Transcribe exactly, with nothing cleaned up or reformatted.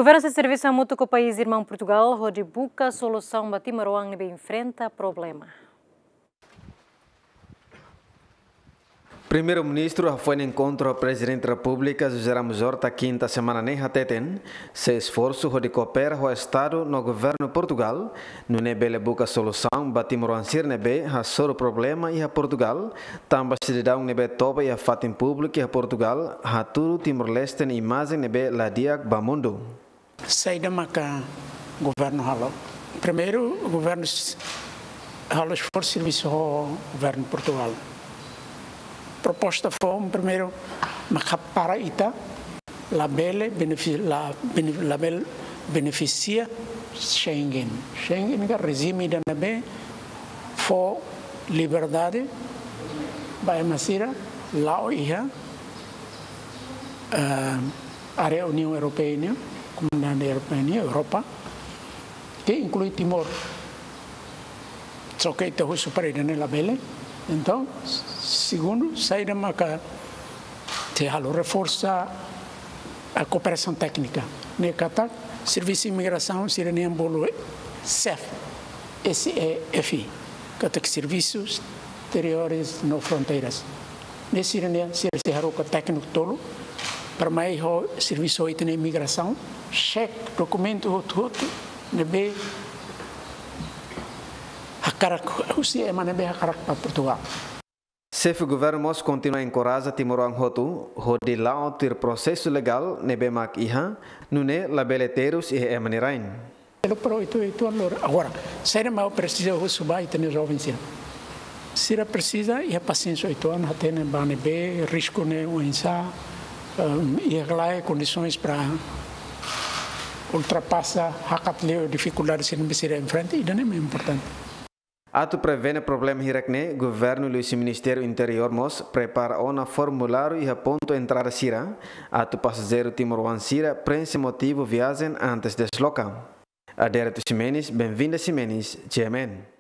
Governu sei servisu hamutuk ho país irmaun Portugal hodi buka solusaun ba timoroan ne'ebé enfrenta problema. Primeiru-Ministru hafoin enkontru ho Prezidente Repúblika José Ramos Horta kinta semana ne'e hateten, sei esforsu hodi koopera ho Estadu no Governu Portugal, nune'e bele buka solusaun ba timoroan sira ne'ebé hasoru problema iha Portugal, tanba sidadaun ne'ebé toba iha fatin públiku iha Portugal hatudu Timor-Leste nia imajen ne'ebé la di'ak ba mundu. Saida maka governu halo? Primeiru, governu s-, halo esforsu servisu ho governu Portugal. Proposta foun, primeiru, maka para ita labele benefi-, la, bene-, labele benefisia Schengen. Schengen ka rejime ida ne'ebé fó liberdade ba ema sira la'o iha, eh, área Uniaun Europeia nian, Komunidade Europeia nian, Europa, ke inklui Timor. Só ke ita husu para ida-ne'e labele. Entaun, segundu, saida maka sei halo, reforsa kooperasaun téknika. Ne'e katak servisu imigrasaun sira-nian bolu SEF, S E F, katak Serviços Exteriores no Fronteiras. Ne'e sira-nian, sira sei haruka tékniku tolu para mai halo servisu ho ita-nia imigrasaun, xeke dokumentu hotu-hotu ne'ebé hakarak, husi ema ne'ebé hakarak ba Portugal. Xefe governu mós kontinua enkoraja timoroan hotu hodi la'o tuir prosesu legál ne'ebé mak iha, nune'e labele terus iha ema nia rain. Pero, pero itu, itu alor. Agora, saida mak presiza husu ba ita-nia joven sira? Sira presiza iha pasiénsia uitoan, hatene ba ne'ebé risku ne'e oinsá, em, iha ka lae kondisoens para ultrapasa, hakat liu difikuldade sira ne'ebé sira enfrenta, ida-ne'e mak importante. Atu prevene problema hirak-ne'e, governu liuhusi Ministériu Interiór mós prepara ona formuláriu iha pontu entrada sira, atu pasajeiru timoroan sira prenxe motivu viajen antes desloka. Adérito Ximenes, Benvinda Ximenes, G M N.